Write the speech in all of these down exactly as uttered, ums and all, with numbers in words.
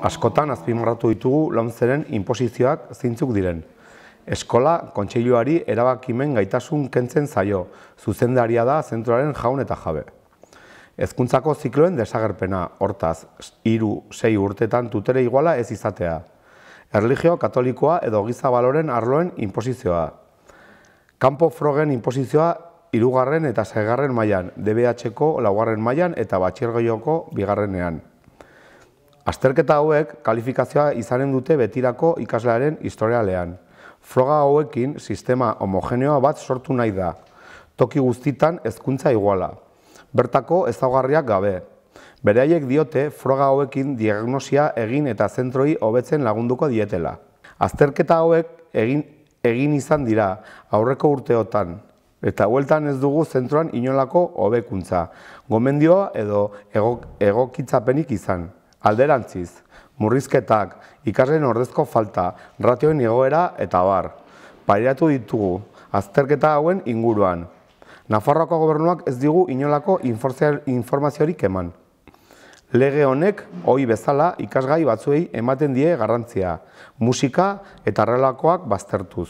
Askotan azpimarratu ditugu lomceren inposizioak zeintzuk diren. Eskola kontseiluari erabakimen gaitasun kentzen zaio, zuzendaria da zentroaren jaun eta jabe. Hezkuntzako zikloen desagerpena, hortaz, hiru sei urtetan tutere iguala ez izatea. Erlijio katolikoa edo giza baloren arloen inposizioa. Kanpo frogen inposizioa hirugarren eta seigarren mailan, D B H-ko laugarren mailan eta batxilergoko bigarrenean. Azterketa hauek kalifikazioa izanen dute betirako ikaslearen historialean. Froga hauekin sistema homogeneoa bat sortu nahi da. Toki guztitan hezkuntza iguala. Bertako ezaugarriak gabe. Beraiek diote froga hauekin diagnosia egin eta zentroi hobetzen lagunduko dietela. Azterketa hauek egin, egin izan dira aurreko urteotan. Eta hueltan ez dugu zentroan inolako hobekuntza, gomendioa edo egokitzapenik izan. Alderantziz, murrizketak, ikasleen ordezko falta, ratioen igoera eta abar. Pairatu ditugu, azterketa hauen inguruan. Nafarroako gobernuak ez digu inolako informaziorik eman. Lege honek, ohi bezala, ikasgai batzuei ematen die garrantzia, musika eta horrelakoak baztertuz.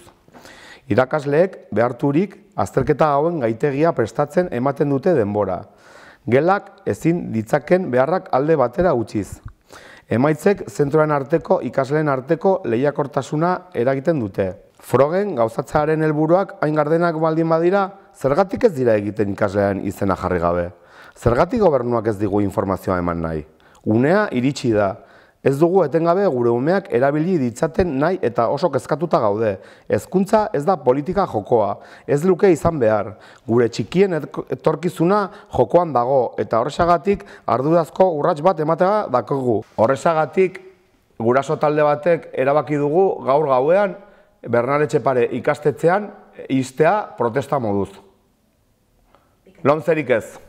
Irakasleek beharturik azterketa hauen gaitegia prestatzen ematen dute denbora. Gelak ezin ditzaken beharrak alde batera utziz. Emaitzek zentroen arteko ikasleen arteko lehiakortasuna eragiten dute. Frogen gauzatzearen helburuak hain gardenak baldin badira, zergatik ez dira egiten ikasleen izena jarri gabe? Zergatik gobernuak ez digu informazioa eman nahi? Unea iritsi da. Ez dugu etengabe gure umeak erabili ditzaten nahi eta oso kezkatuta gaude. Hezkuntza ez da politika jokoa, ez luke izan behar. Gure txikien etorkizuna jokoan dago eta horrexagatik ardurazko urrats bat ematea dakogu. Horrexagatik guraso talde batek erabaki dugu gaur gauean Bernal Etxepare ikastetxean ixtea protesta moduz. Lomcerik ez.